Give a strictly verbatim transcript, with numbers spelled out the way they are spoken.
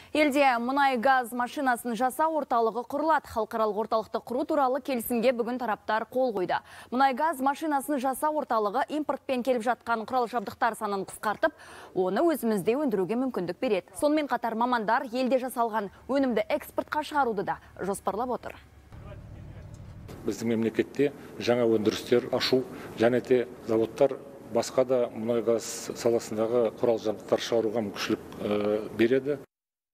Елде мұнай-газ машинасын жасау орталығы құрылады. Халықаралық орталықты құру туралы келісімге бүгін тараптар қол қойды. Мұнай-газ машинасын жасау орталығы импортпен келіп жатқан құрал жабдықтар санын қысқартып, оны өзімізде өндіруге мүмкіндік береді. Сонымен қатар мамандар елде жасалған өнімді экспортқа шығаруды да жоспарлап отыр. Біздің мемлекетте жаңа өндірістер ашу және де заводтар басқа да мұнай-газ саласындағы құрал жабдықтар шығаруға мүмкіншілік береді.